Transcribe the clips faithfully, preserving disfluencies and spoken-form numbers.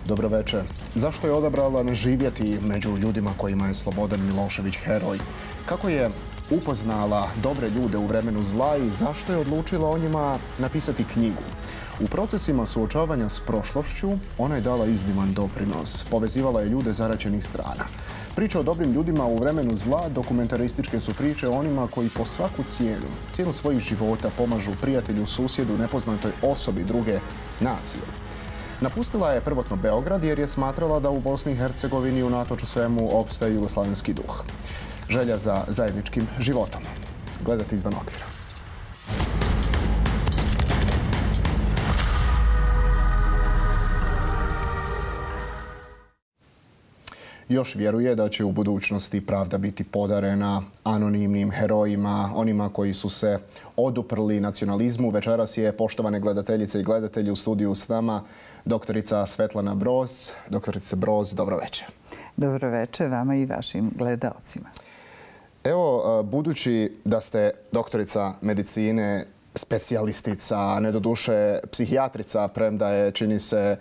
Dobroveče. Zašto je odabrala ne živjeti među ljudima kojima je Slobodan Milošević heroj? Kako je upoznala dobre ljude u vremenu zla i zašto je odlučila o njima napisati knjigu? U procesima suočavanja s prošlošću ona je dala izniman doprinos. Povezivala je ljude zaraćenih strana. Priče o dobrim ljudima u vremenu zla dokumentarističke su priče o onima koji po svaku cijenu, cijenu svojih života pomažu prijatelju, susjedu, nepoznatoj osobi druge nacije. Napustila je prvotno Beograd jer je smatrala da u Bosni i Hercegovini unatoč svemu opstaje jugoslavenski duh. Želja za zajedničkim životom. Gledate Izvan okvira. Još vjeruje da će u budućnosti pravda biti podarena anonimnim herojima, onima koji su se oduprli nacionalizmu. Večeras je, poštovane gledateljice i gledatelji, u studiju s nama doktorica Svetlana Broz. Doktorica Broz, dobroveče. Dobroveče vama i vašim gledaocima. Evo, budući da ste doktorica medicine, specijalistica, ne doduše psihijatrica, premda je, čini se,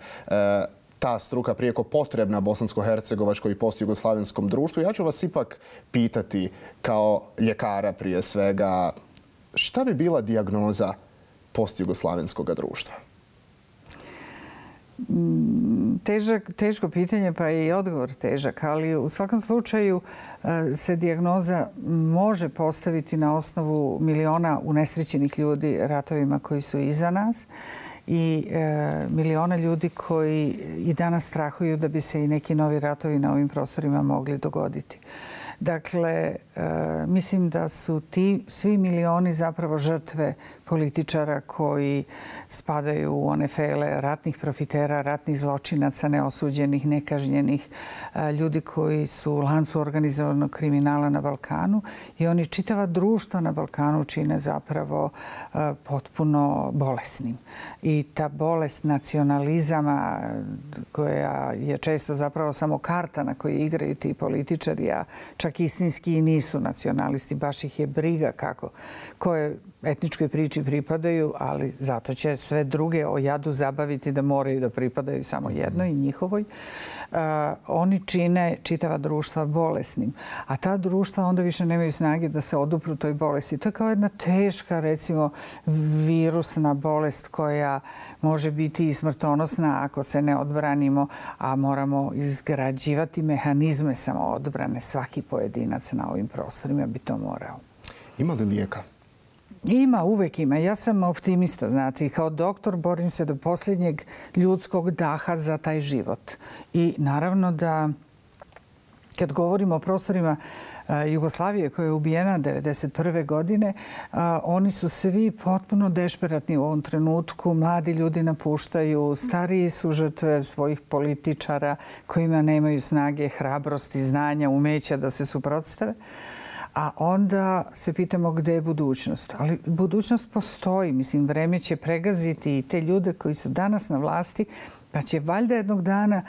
ta struka prijeko potrebna bosansko-hercegovačkoj i postjugoslavenskom društvu. Ja ću vas ipak pitati kao ljekara prije svega, šta bi bila dijagnoza postjugoslavenskog društva? Težak, teško pitanje, pa je i odgovor težak, ali u svakom slučaju se dijagnoza može postaviti na osnovu miliona unesrećenih ljudi ratovima koji su iza nas i e, miliona ljudi koji i danas strahuju da bi se i neki novi ratovi na ovim prostorima mogli dogoditi. Dakle, e, mislim da su ti svi milioni zapravo žrtve političara koji spadaju u one fele ratnih profitera, ratnih zločinaca, neosuđenih, nekažnjenih, ljudi koji su u lancu organizovanog kriminala na Balkanu i oni čitava društva na Balkanu čine zapravo potpuno bolesnim. I ta bolest nacionalizama koja je često zapravo samo karta na kojoj igraju ti političari, a čak istinski i nisu nacionalisti, baš ih je briga kako, koje etničkoj priči pripadaju, ali zato će sve druge o jadu zabaviti da moraju da pripadaju samo jednoj, njihovoj. Uh, oni čine čitava društva bolesnim. A ta društva onda više nemaju snage da se odupru toj bolesti. To je kao jedna teška, recimo, virusna bolest koja može biti i smrtonosna ako se ne odbranimo, a moramo izgrađivati mehanizme samoodbrane. Svaki pojedinac na ovim prostorima bi to morao. Ima li lijeka? Ima, uvek ima. Ja sam optimista, znate, i kao doktor borim se do posljednjeg ljudskog daha za taj život. I naravno da kad govorimo o prostorima Jugoslavije koja je ubijena devedeset prve godine, oni su svi potpuno dešperatni u ovom trenutku. Mladi ljudi napuštaju, stariji su žrtve svojih političara kojima nemaju snage, hrabrosti, znanja, umeća da se suprotstave. A onda se pitamo gdje je budućnost. Ali budućnost postoji. Mislim, vreme će pregaziti i te ljude koji su danas na vlasti, pa će valjda jednog dana,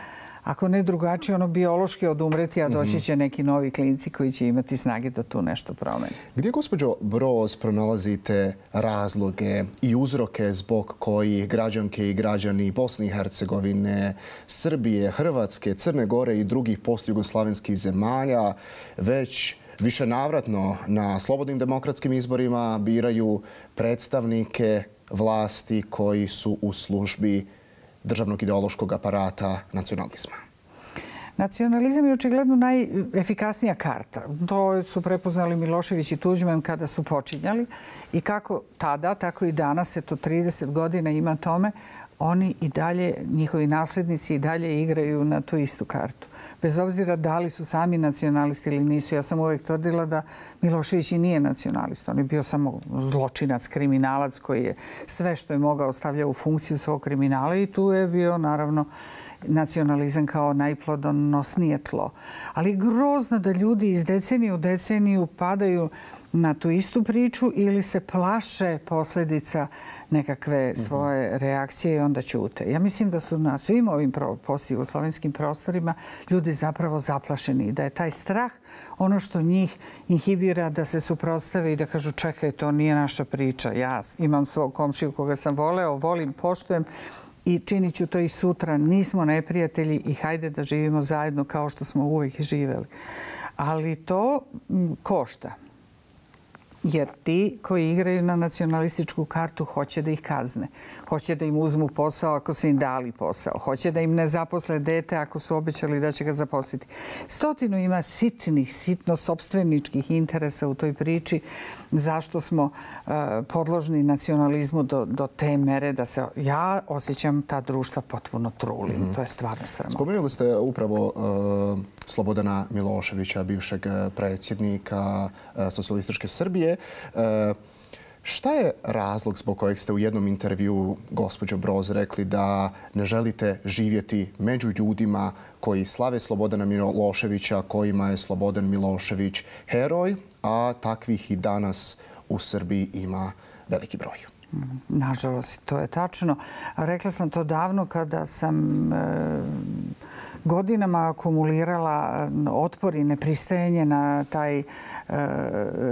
ako ne drugačije, ono biološki odumreti, a doći će neki novi klinci koji će imati snage da tu nešto promeni. Gdje, gospođo Broz, pronalazite razloge i uzroke zbog kojih građanke i građani Bosne i Hercegovine, Srbije, Hrvatske, Crne Gore i drugih postjugoslavenskih zemalja već višenavratno na slobodnim demokratskim izborima biraju predstavnike vlasti koji su u službi državnog ideološkog aparata nacionalizma? Nacionalizam je očigledno najefikasnija karta. To su prepoznali Milošević i Tuđman kada su počinjali i kako tada, tako i danas, eto trideset godina ima tome, oni i dalje, njihovi naslednici i dalje igraju na tu istu kartu. Bez obzira da li su sami nacionalisti ili nisu. Ja sam uvijek tvrdila da Milošević i nije nacionalista. On je bio samo zločinac, kriminalac koji je sve što je mogao stavljao u funkciju svog kriminala i tu je bio naravno nacionalizam kao najplodonosnije tlo. Ali grozno da ljudi iz decenije u deceniju padaju na tu istu priču ili se plaše posljedica nekakve svoje reakcije i onda ćute. Ja mislim da su na svim ovim postjugoslavenskim prostorima ljudi zapravo zaplašeni i da je taj strah ono što njih inhibira da se suprotstave i da kažu čekaj, to nije naša priča. Ja imam svog komšiju koga sam voleo, volim, poštujem i činit ću to i sutra. Nismo neprijatelji i hajde da živimo zajedno kao što smo uvijek živjeli. Ali to košta. Jer ti koji igraju na nacionalističku kartu hoće da ih kazne. Hoće da im uzmu posao ako su im dali posao. Hoće da im ne zaposle dete ako su obećali da će ga zaposliti. Stotinu ima sitnih, sitno sopstveničkih interesa u toj priči. Zašto smo uh, podložni nacionalizmu do, do te mere da se ja osjećam ta društva potpuno trulim. Mm-hmm. To je stvarno sramotno. Spomenuli ste upravo uh, Slobodana Miloševića, bivšeg predsjednika uh, socijalističke Srbije. Uh, šta je razlog zbog kojeg ste u jednom intervjuu, gospođo Broz, rekli da ne želite živjeti među ljudima koji slave Slobodana Miloševića, kojima je Slobodan Milošević heroj, a takvih i danas u Srbiji ima veliki broj? Nažalost, to je tačno. Rekla sam to davno kada sam e, godinama akumulirala otpor i nepristajanje na taj e,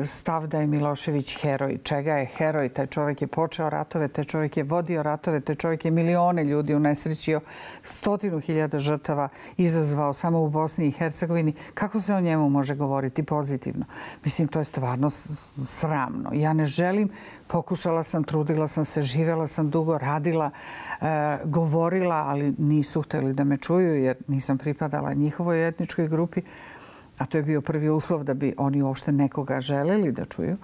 stav da je Milošević heroj. Čega je heroj? Taj čovjek je počeo ratove, taj čovjek je vodio ratove, taj čovjek je milione ljudi unesrećio, stotinu hiljada žrtava izazvao samo u Bosni i Hercegovini. Kako se o njemu može govoriti pozitivno? Mislim, to je stvarno sramno. Ja ne želim, pokušala sam, trudila sam se, živjela sam dugo, radila, e, govorila, ali nisu htjeli da me čuju jer nisam pripadala njihovoj etničkoj grupi. A to je bio prvi uslov da bi oni uopšte nekoga želeli da čuju.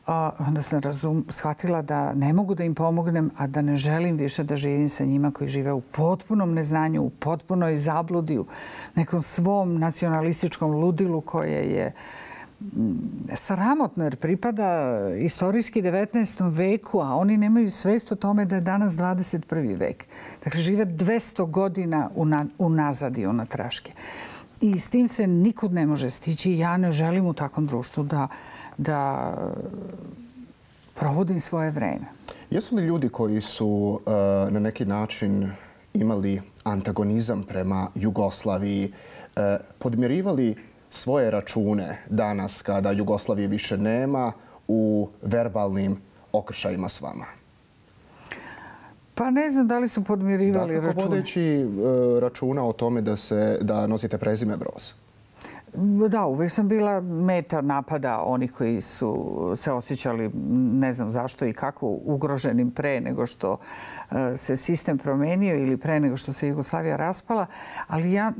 A onda sam razum, shvatila da ne mogu da im pomognem, a da ne želim više da živim sa njima koji žive u potpunom neznanju, u potpunoj zabludi, u nekom svom nacionalističkom ludilu koje je sramotno jer pripada istorijski devetnaestom veku, a oni nemaju svest o tome da je danas dvadeset prvi vek. Dakle, žive dvesta godina unazad i unatraške. I s tim se nikud ne može stići. Ja ne želim u takvom društvu da, da provodim svoje vreme. Jesu li ljudi koji su uh, na neki način imali antagonizam prema Jugoslaviji uh, podmirivali svoje račune danas kada Jugoslavije više nema u verbalnim okršajima s vama? Pa ne znam da li su podmirivali dakle, račune. Vodeći uh, računa o tome da, se, da nosite prezime Broz. Da, uvijek sam bila meta napada onih koji su se osjećali, ne znam zašto i kako, ugroženim pre nego što se sistem promenio ili pre nego što se Jugoslavija raspala. Ali ja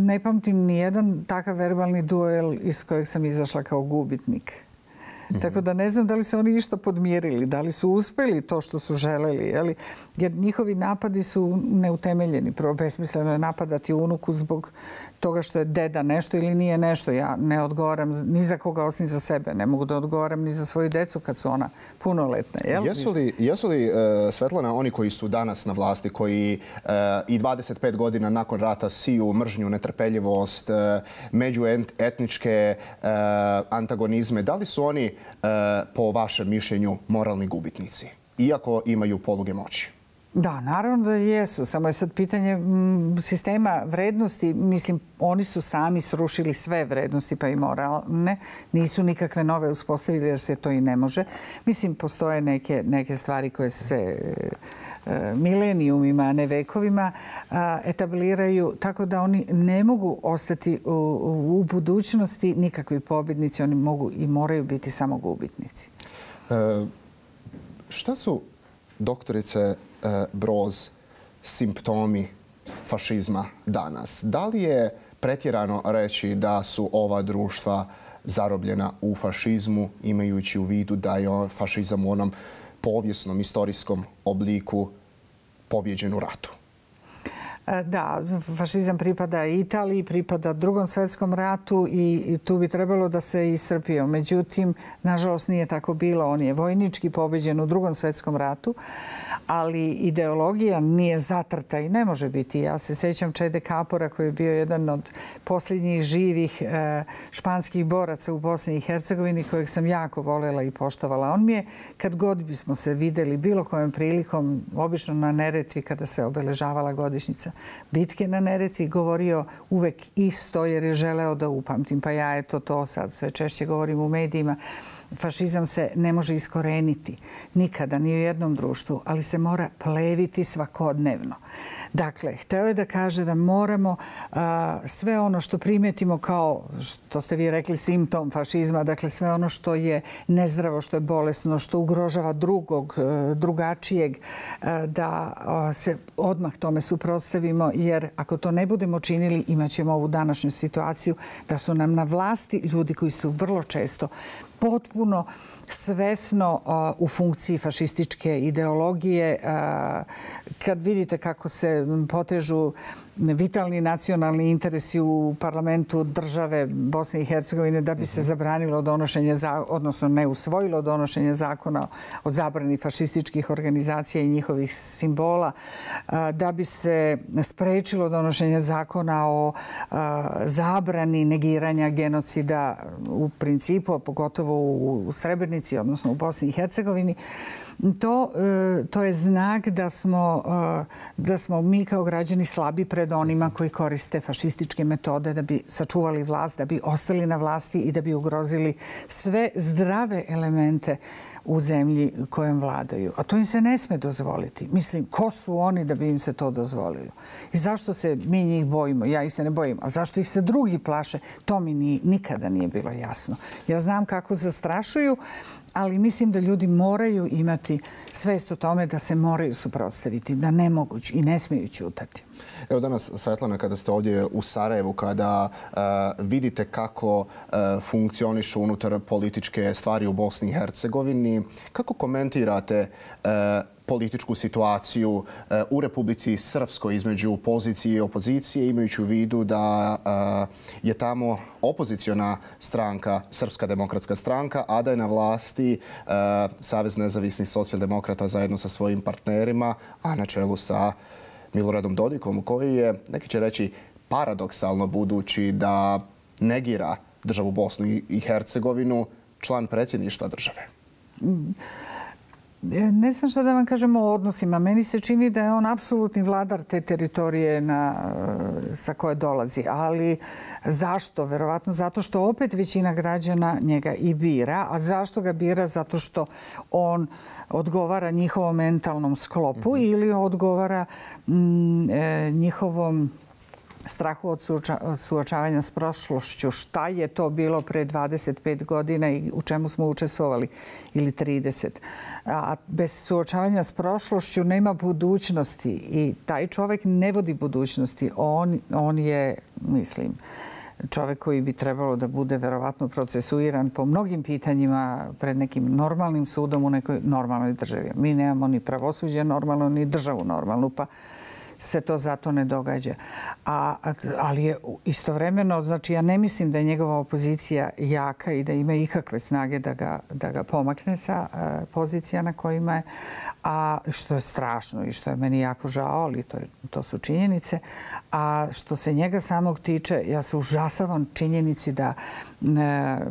ne pamtim ni jedan takav verbalni duel iz kojeg sam izašla kao gubitnik. Mm-hmm. Tako da ne znam da li se oni išta podmirili, da li su uspjeli to što su želeli. Jeli? Jer njihovi napadi su neutemeljeni. Prvo, besmisleno je napadati unuku zbog toga što je deda nešto ili nije nešto. Ja ne odgovaram ni za koga osim za sebe. Ne mogu da odgovaram ni za svoju decu kad su ona punoletna. Jel? Jesu li, jesu li uh, Svetlana, oni koji su danas na vlasti, koji uh, i dvadeset pet godina nakon rata siju mržnju, netrpeljivost, uh, međuetničke uh, antagonizme, da li su oni uh, po vašem mišljenju moralni gubitnici, iako imaju poluge moći? Da, naravno da jesu. Samo je sad pitanje m, sistema vrednosti. Mislim, oni su sami srušili sve vrednosti pa i moralne. Nisu nikakve nove uspostavili jer se to i ne može. Mislim, postoje neke, neke stvari koje se e, milenijumima, a ne vekovima a, etabliraju. Tako da oni ne mogu ostati u, u, u budućnosti nikakvi pobjednici. Oni mogu i moraju biti samo gubitnici. E, šta su, doktorice Broz, simptomi fašizma danas? Da li je pretjerano reći da su ova društva zarobljena u fašizmu, imajući u vidu da je fašizam u onom povijesnom, istorijskom obliku pobjeđen u ratu? Da, fašizam pripada Italiji, pripada Drugom svjetskom ratu i tu bi trebalo da se iscrpio. Međutim, nažalost nije tako bilo. On je vojnički pobjeđen u Drugom svjetskom ratu, ali ideologija nije zatrta i ne može biti. Ja se sjećam Čede Kapora koji je bio jedan od posljednjih živih španskih boraca u Bosni i Hercegovini kojeg sam jako voljela i poštovala. On mi je, kad god bismo se videli bilo kojom prilikom, obično na Neretvi kada se obeležavala godišnjica bitke na Neretvi, govorio uvek isto jer je želeo da upamtim. Pa ja eto to sad sve češće govorim u medijima. fašizam se ne može iskoreniti nikada, ni u jednom društvu, ali se mora pleviti svakodnevno. Dakle, hteo je da kaže da moramo a, sve ono što primetimo kao, što ste vi rekli, simptom fašizma, dakle sve ono što je nezdravo, što je bolesno, što ugrožava drugog, drugačijeg, a, da a, se odmah tome suprotstavimo, jer ako to ne budemo činili, imat ćemo ovu današnju situaciju da su nam na vlasti ljudi koji su vrlo često potpuno svesno u funkciji fašističke ideologije. Kad vidite kako se potežu vitalni nacionalni interesi u parlamentu države Bosne i Hercegovine da bi se zabranilo donošenje, odnosno ne usvojilo donošenje zakona o zabrani fašističkih organizacija i njihovih simbola, da bi se sprečilo donošenje zakona o zabrani negiranja genocida u principu, a pogotovo u Srebrenici, odnosno u Bosni i Hercegovini. To, to je znak da smo, da smo mi kao građani slabi pred onima koji koriste fašističke metode da bi sačuvali vlast, da bi ostali na vlasti i da bi ugrozili sve zdrave elemente u zemlji kojom vladaju. A to im se ne sme dozvoliti. Mislim, ko su oni da bi im se to dozvolilo? I zašto se mi njih bojimo? Ja ih se ne bojim. A zašto ih se drugi plaše? To mi ni, nikada nije bilo jasno. Ja znam kako zastrašuju, ali mislim da ljudi moraju imati svest o tome da se moraju suprotstaviti, da ne mogu i ne smiju ćutati. Evo danas, Svetlana, kada ste ovdje u Sarajevu, kada uh, vidite kako uh, funkcionišu unutar političke stvari u Bosni i Hercegovini, kako komentirate uh, političku situaciju uh, u Republici Srpskoj između pozicije i opozicije, imajući u vidu da uh, je tamo opoziciona stranka, Srpska demokratska stranka, a da je na vlasti uh, Savez nezavisnih socijaldemokrata zajedno sa svojim partnerima, a na čelu sa Miloradom Dodikom, koji je, neki će reći, paradoksalno budući da negira državu Bosnu i Hercegovinu, član predsjedništva države. Ne znam što da vam kažemo o odnosima. Meni se čini da je on apsolutni vladar te teritorije na, sa koje dolazi. Ali zašto? Verovatno zato što opet većina građana njega i bira. A zašto ga bira? Zato što on odgovara njihovom mentalnom sklopu mm-hmm. ili odgovara mm, e, njihovom strahu od suočavanja s prošlošću. Šta je to bilo pre dvadeset pet godina i u čemu smo učestvovali ili trideset. A bez suočavanja s prošlošću nema budućnosti i taj čovjek ne vodi budućnosti. On, on je, mislim, čovjek koji bi trebalo da bude verovatno procesuiran po mnogim pitanjima pred nekim normalnim sudom u nekoj normalnoj državi. Mi nemamo ni pravosuđe normalno, ni državu normalnu, pa se to zato ne događa. A, ali je istovremeno, znači ja ne mislim da je njegova opozicija jaka i da ima ikakve snage da ga, da ga pomakne sa uh, pozicija na kojima je, a što je strašno i što je meni jako žao, ali to, je, to su činjenice. A što se njega samog tiče, ja se užasavam činjenici da uh,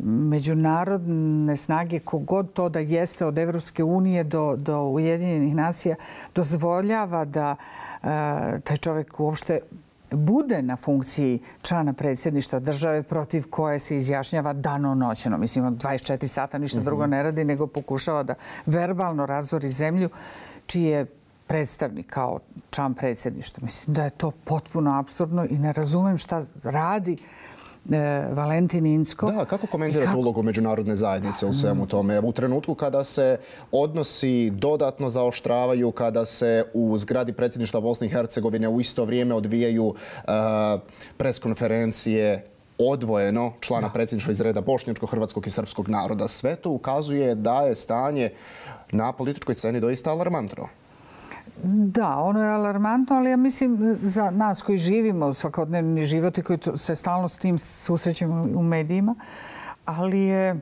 međunarodne snage, kogod to da jeste od Evropske unije do, do Ujedinjenih nacija, dozvoljava da taj čovjek uopšte bude na funkciji člana predsjedništva države protiv koje se izjašnjava danonoćno. Mislim, dvadeset četiri sata ništa mm-hmm. drugo ne radi, nego pokušava da verbalno razori zemlju, čiji je predstavnik kao član predsjedništva. Mislim da je to potpuno apsurdno i ne razumem šta radi Valentin Incko. Da, kako komentirate kako... ulogu međunarodne zajednice u svemu tome? U trenutku kada se odnosi dodatno zaoštravaju, kada se u zgradi predsjedništva Bosne i Hercegovine u isto vrijeme odvijaju uh, preskonferencije odvojeno člana da. predsjedništva iz reda bošnjačkog, hrvatskog i srpskog naroda. Sve to ukazuje da je stanje na političkoj sceni doista alarmantno. Da, ono je alarmantno, ali ja mislim za nas koji živimo svakodnevni život i koji se stalno s tim susrećemo u medijima, ali je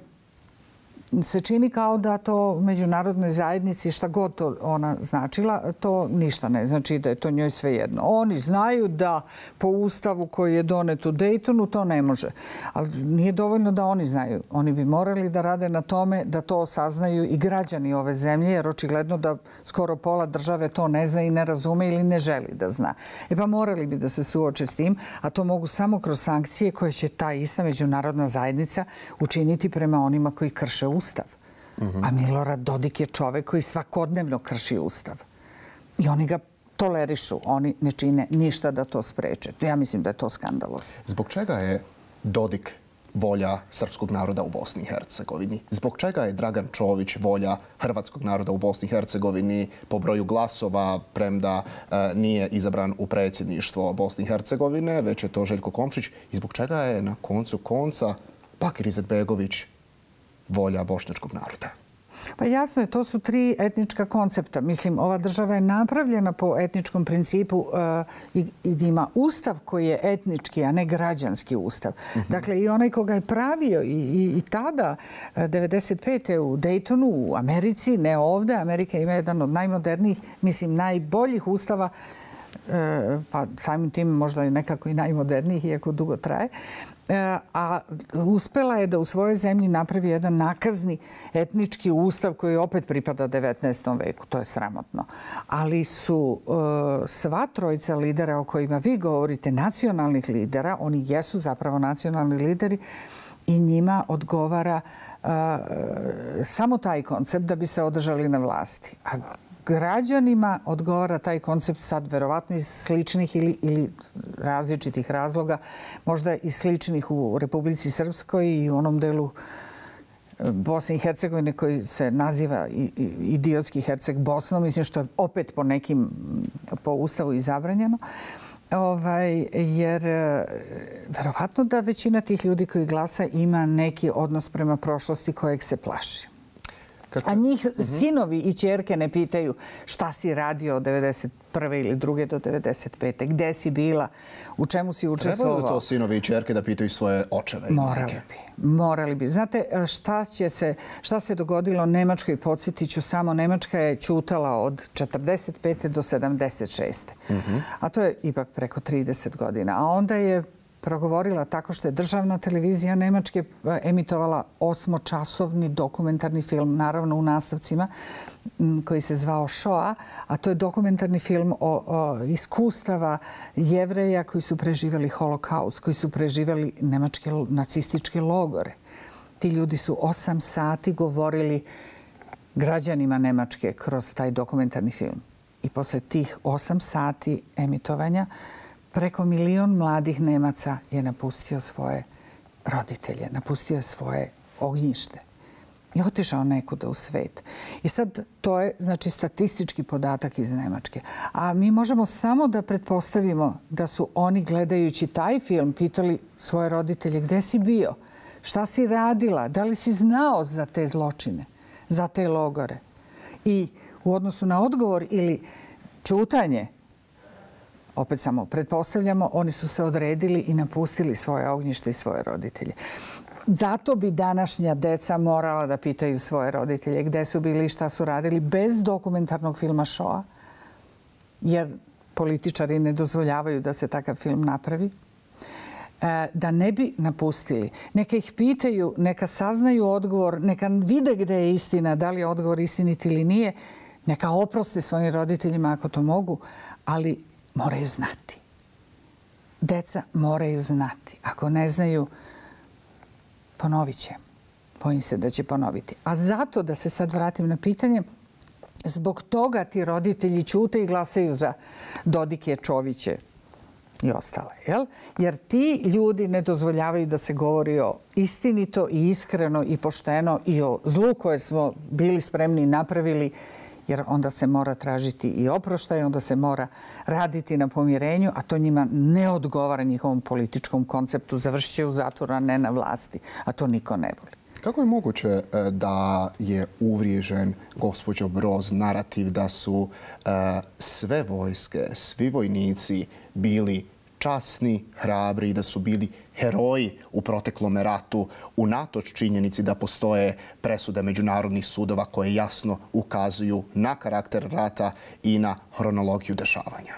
se čini kao da to međunarodnoj zajednici, šta god to ona značila, to ništa ne znači, da je to njoj svejedno. Oni znaju da po ustavu koji je donet u Dejtonu to ne može. Ali nije dovoljno da oni znaju. Oni bi morali da rade na tome da to saznaju i građani ove zemlje, jer očigledno da skoro pola države to ne zna i ne razume ili ne želi da zna. E pa morali bi da se suoče s tim, a to mogu samo kroz sankcije koje će ta ista međunarodna zajednica učiniti prema onima koji krše ustav. Ustav. A Milorad Dodik je čovek koji svakodnevno krši Ustav. I oni ga tolerišu. Oni ne čine ništa da to spreče. Ja mislim da je to skandalozno. Zbog čega je Dodik volja srpskog naroda u Bosni i Hercegovini? Zbog čega je Dragan Čović volja hrvatskog naroda u Bosni i Hercegovini po broju glasova, premda e, nije izabran u predsjedništvo Bosne i Hercegovine, već je to Željko Komšić? I zbog čega je na koncu konca Bakir Izetbegović volja bošnjačkog naroda? Pa jasno je, to su tri etnička koncepta. Mislim, ova država je napravljena po etničkom principu i ima ustav koji je etnički, a ne građanski ustav. Dakle, i onaj koga je pravio i tada, devedeset pete u Daytonu, u Americi, ne ovde. Amerika ima jedan od najmodernijih, mislim, najboljih ustava, pa samim tim možda i nekako i najmodernijih, iako dugo traje. A uspela je da u svojoj zemlji napravi jedan nakazni etnički ustav koji opet pripada devetnaestom veku. To je sramotno. Ali su sva trojica lidera o kojima vi govorite, nacionalnih lidera, oni jesu zapravo nacionalni lideri i njima odgovara samo taj koncept da bi se održali na vlasti. A građanima odgovara taj koncept sad verovatno iz sličnih ili, ili različitih razloga, možda i sličnih u Republici Srpskoj i u onom delu Bosne i Hercegovine koji se naziva idiotski Herceg Bosnom, mislim što je opet po nekim, po ustavu i zabranjeno. Ovaj, jer verovatno da većina tih ljudi koji glasa ima neki odnos prema prošlosti kojeg se plaši. A njih sinovi i ćerke ne pitaju šta si radio od devedeset prve ili druge do devedeset pete. Gde si bila? U čemu si učestvovao? Trebalo to sinovi i ćerke da pitaju svoje očeve i Morali majke? bi. Morali bi. Znate šta, će se, šta se dogodilo Nemačkoj? Podsjetit ću samo, Nemačka je ćutala od četrdeset pete do sedamdeset šeste. A to je ipak preko trideset godina. A onda je progovorila tako što je državna televizija Nemačke emitovala osmočasovni dokumentarni film, naravno u nastavcima, koji se zvao Shoah, a to je dokumentarni film o, o iskustava Jevreja koji su preživjeli holokaust, koji su preživjeli nemačke nacističke logore. Ti ljudi su osam sati govorili građanima Nemačke kroz taj dokumentarni film. I posle tih osam sati emitovanja preko milion mladih Nemaca je napustio svoje roditelje, napustio je svoje ognjište i otišao nekuda u svet. I sad to je, znači, statistički podatak iz Nemačke. A mi možemo samo da pretpostavimo da su oni, gledajući taj film, pitali svoje roditelje gde si bio, šta si radila, da li si znao za te zločine, za te logore. I u odnosu na odgovor ili ćutanje, opet samo pretpostavljamo, oni su se odredili i napustili svoje ognjište i svoje roditelje. Zato bi današnja deca morala da pitaju svoje roditelje gde su bili i šta su radili bez dokumentarnog filma Shoah, jer političari ne dozvoljavaju da se takav film napravi, da ne bi napustili. Neka ih pitaju, neka saznaju odgovor, neka vide gde je istina, da li je odgovor istinit ili nije, neka oproste svojim roditeljima ako to mogu, ali moraju znati. Deca moraju znati. Ako ne znaju, ponovit će. Bojim se da će ponoviti. A zato, da se sad vratim na pitanje, zbog toga ti roditelji ćute i glasaju za Dodike, Čoviće i ostale. Jel? Jer ti ljudi ne dozvoljavaju da se govori o istinito i iskreno i pošteno i o zlu koje smo bili spremni i napravili, jer onda se mora tražiti i oproštaj, onda se mora raditi na pomirenju, a to njima ne odgovara njihovom političkom konceptu. Završit će u zatvoru, a ne na vlasti. A to niko ne voli. Kako je moguće da je uvriježen, gospođo Broz, narativ da su sve vojske, svi vojnici bili časni, hrabri i da su bili heroji u proteklom ratu, unatoč činjenici da postoje presude međunarodnih sudova koje jasno ukazuju na karakter rata i na hronologiju dešavanja?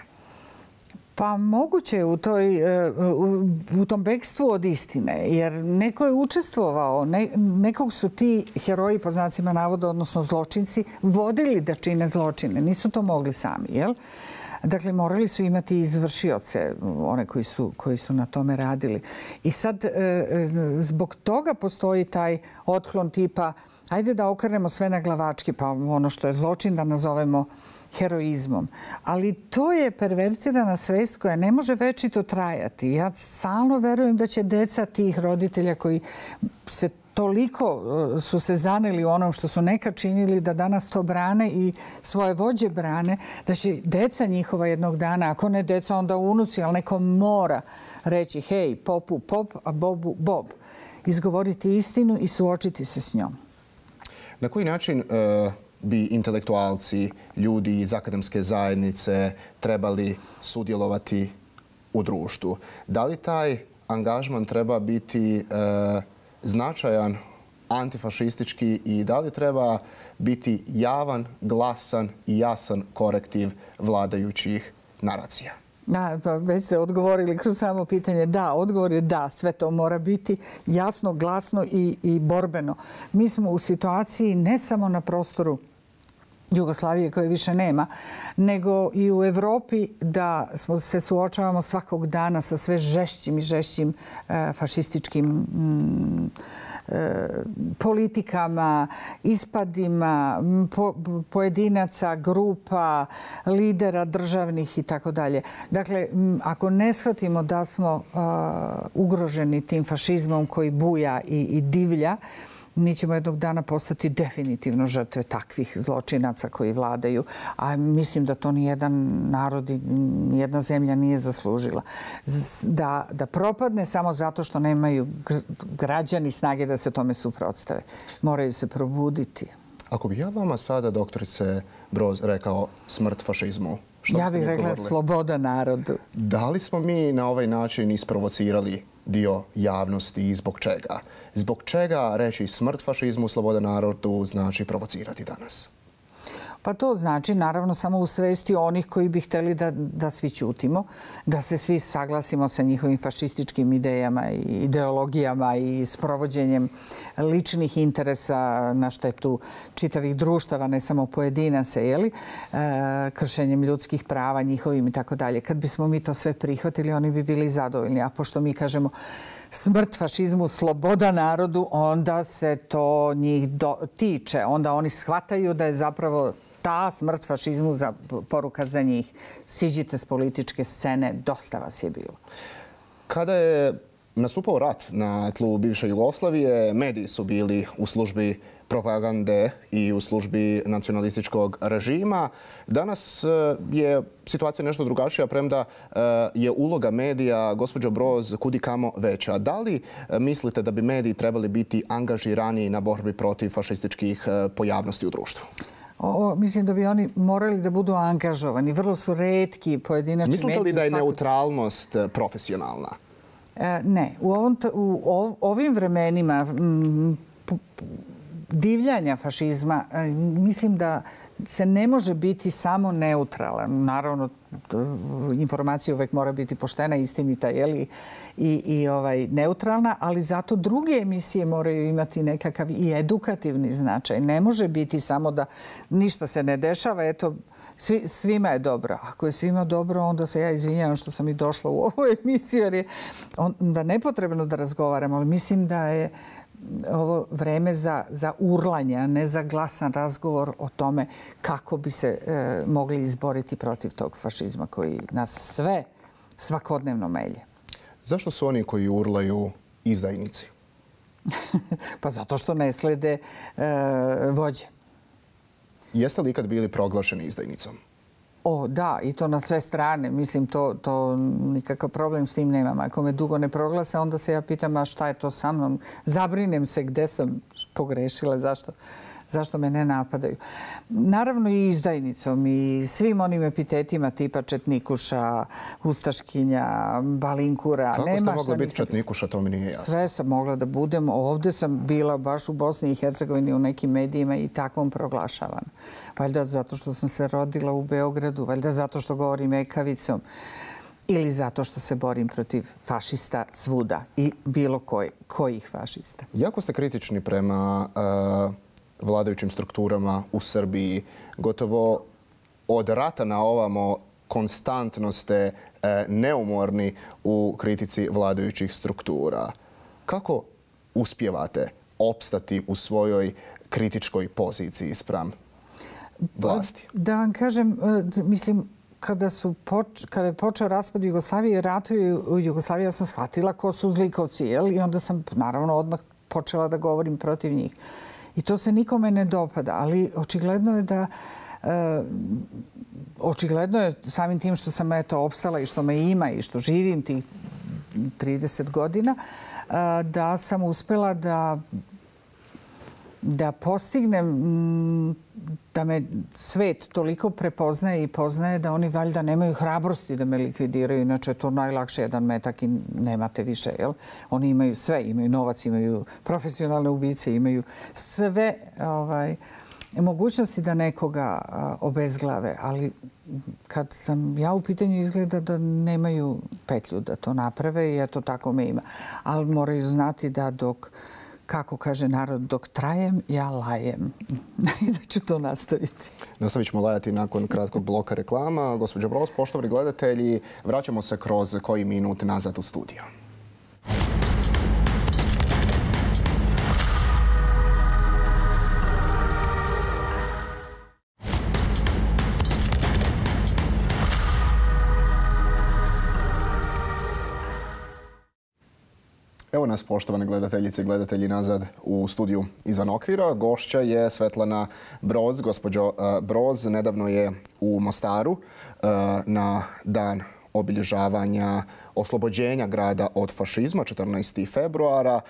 Pa moguće je u, toj, u, u tom bekstvu od istine, jer neko je učestvovao, ne, nekog su ti heroji, po znacima navoda, odnosno zločinci, vodili da čine zločine. Nisu to mogli sami, jel? Dakle, morali su imati izvršioce, one koji su, koji su na tome radili. I sad, zbog toga postoji taj otklon tipa ajde da okrenemo sve na glavački, pa ono što je zločin da nazovemo heroizmom. Ali to je pervertirana svest koja ne može večito trajati. Ja stalno verujem da će deca tih roditelja koji se toliko su se zaneli u onom što su nekad činili da danas to brane i svoje vođe brane, da će deca njihova jednog dana, ako ne deca onda unuci, ali neko mora reći hej, popu pop, a bobu bob. Izgovoriti istinu i suočiti se s njom. Na koji način e, bi intelektualci, ljudi iz akademske zajednice trebali sudjelovati u društvu? Da li taj angažman treba biti e, značajan, antifašistički i da li treba biti javan, glasan i jasan korektiv vladajućih naracija? Da, pa već ste odgovorili kroz samo pitanje. Da, odgovor je da, sve to mora biti jasno, glasno i, i borbeno. Mi smo u situaciji ne samo na prostoru Jugoslavije koje više nema, nego i u Evropi da smo se suočavamo svakog dana sa sve žešćim i žešćim e, fašističkim mm, e, politikama, ispadima po, pojedinaca, grupa, lidera državnih i tako dalje. Dakle, ako ne shvatimo da smo a, ugroženi tim fašizmom koji buja i, i divlja, mi ćemo jednog dana postati definitivno žrtve takvih zločinaca koji vladaju. A mislim da to nijedan narod i nijedna zemlja nije zaslužila. Da, da propadne samo zato što nemaju građani snage da se tome suprotstave. Moraju se probuditi. Ako bih ja vama sada, doktorice Broz, rekao smrt fašizmu, što ja biste mi bih rekla govorili? Sloboda narodu. Da li smo mi na ovaj način isprovocirali dio javnosti i zbog čega? Zbog čega reći smrt fašizmu, sloboda narodu znači provocirati danas? Pa to znači naravno samo u svesti onih koji bi htjeli da, da svi ćutimo, da se svi saglasimo sa njihovim fašističkim idejama i ideologijama i sprovođenjem ličnih interesa na štetu čitavih društava, ne samo pojedinaca, jeli? E, kršenjem ljudskih prava njihovim i tako dalje. Kad bismo mi to sve prihvatili, oni bi bili zadovoljni. A pošto mi kažemo smrt fašizmu, sloboda narodu, onda se to njih do, tiče. Onda oni shvataju da je zapravo ta smrt fašizmu za, poruka za njih. Siđite s političke scene, dosta vas je bilo. Kada je nastupao rat na tlu bivše Jugoslavije, mediji su bili u službi propagande i u službi nacionalističkog režima. Danas je situacija nešto drugačija, premda je uloga medija, gospođo Broz, kudikamo veća. Da li mislite da bi mediji trebali biti angažiraniji na borbi protiv fašističkih pojavnosti u društvu? O, mislim da bi oni morali da budu angažovani. Vrlo su retki pojedinačni mediji. Mislite li da je neutralnost profesionalna? E, ne. U, ovom, u ov, ovim vremenima m, p, p, divljanja fašizma, mislim da se ne može biti samo neutralan. Naravno, informacija uvek mora biti poštena, istinita, jeli, i, i ovaj, neutralna, ali zato druge emisije moraju imati nekakav i edukativni značaj. Ne može biti samo da ništa se ne dešava, eto, svi, svima je dobro. Ako je svima dobro, onda se ja izvinjavam što sam i došla u ovu emisiju, jer je onda nepotrebno da razgovaram, ali mislim da je ovo vreme za, za urlanje, a ne za glasan razgovor o tome kako bi se e, mogli izboriti protiv tog fašizma koji nas sve svakodnevno melje. Zašto su oni koji urlaju izdajnici? Pa zato što ne slede e, vođe. Jeste li ikad bili proglašeni izdajnicom? O, da, i to na sve strane. Mislim, to, to nikakav problem s tim nemam. Ako me dugo ne proglase, onda se ja pitam, a šta je to sa mnom? Zabrinem se gde sam pogrešila, zašto, zašto me ne napadaju. Naravno i izdajnicom i svim onim epitetima tipa četnikuša, ustaškinja, balinkura. Kako Nema ste mogla biti nisam... četnikuša, to mi nije jasno. Sve sam mogla da budem. Ovdje sam bila baš u Bosni i Hercegovini u nekim medijima i takvom proglašavana. Valjda zato što sam se rodila u Beogradu, valjda zato što govorim ekavicom ili zato što se borim protiv fašista svuda i bilo koj, kojih fašista. Jako ste kritični prema uh, vladajućim strukturama u Srbiji. Gotovo od rata na ovamo konstantno ste neumorni u kritici vladajućih struktura. Kako uspijevate opstati u svojoj kritičkoj poziciji spram vlasti? Da vam kažem, mislim, kada, su poč, kada je počeo raspad Jugoslavije i ratovi u Jugoslaviji, ja sam shvatila ko su zlikovci, jel? I onda sam, naravno, odmah počela da govorim protiv njih. I to se nikome ne dopada, ali očigledno je da e, očigledno je samim tim što sam eto opstala i što me ima i što živim tih trideset godina, e, da sam uspela da da postignem da me svet toliko prepoznaje i poznaje da oni valjda nemaju hrabrosti da me likvidiraju. Inače je to najlakše, jedan metak i nemate više. Jel? Oni imaju sve, imaju novac, imaju profesionalne ubice, imaju sve ovaj, mogućnosti da nekoga a, obezglave. Ali kad sam ja u pitanju, izgleda da nemaju petlju da to naprave i eto tako me ima. Ali moraju znati da dok kako kaže narod, dok trajem, ja lajem. I da ću to nastaviti. Nastavit ćemo lajati nakon kratkog bloka reklama. Gospođo Broz, poštovani gledatelji, vraćamo se kroz koji minut nazad u studio. Evo nas, poštovane gledateljice i gledatelji, nazad u studiju Izvan okvira. Gošća je Svetlana Broz. Gospođo Broz, nedavno je u Mostaru na dan obilježavanja oslobođenja grada od fašizma, četrnaestog februara,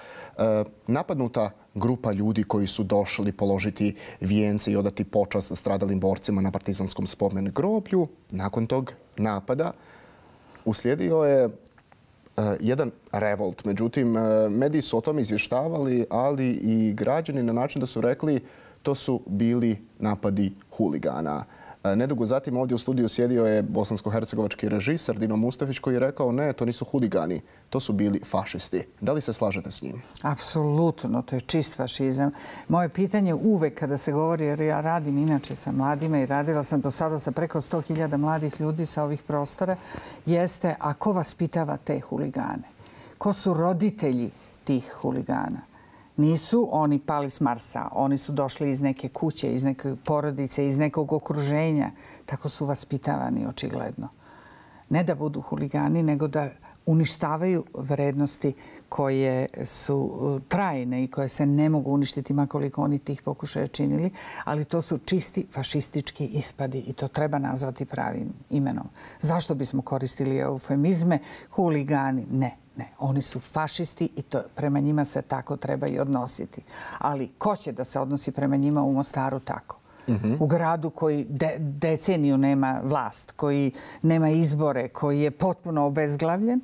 napadnuta grupa ljudi koji su došli položiti vijence i odati počast stradalim borcima na partizanskom spomen groblju. Nakon tog napada uslijedio je jedan revolt. Međutim, mediji su o tom izvještavali, ali i građani na način da su rekli to su bili napadi huligana. Nedugo zatim ovdje u studiju sjedio je bosansko-hercegovački režiser Dino Mustafić koji je rekao ne, to nisu huligani, to su bili fašisti. Da li se slažete s njim? Apsolutno, to je čist fašizam. Moje pitanje uvek kada se govori, jer ja radim inače sa mladima i radila sam do sada sa preko sto hiljada mladih ljudi sa ovih prostora, jeste a ko vaspitava te huligane? Ko su roditelji tih huligana? Nisu oni pali s Marsa, oni su došli iz neke kuće, iz neke porodice, iz nekog okruženja. Tako su vaspitavani, očigledno. Ne da budu huligani, nego da uništavaju vrednosti koje su trajne i koje se ne mogu uništiti makoliko oni tih pokušaja činili, ali to su čisti fašistički ispadi i to treba nazvati pravim imenom. Zašto bismo koristili eufemizme? Huligani? Ne. Ne, oni su fašisti i to, prema njima se tako treba i odnositi. Ali ko će da se odnosi prema njima u Mostaru tako? Mm-hmm. U gradu koji de, deceniju nema vlast, koji nema izbore, koji je potpuno obezglavljen,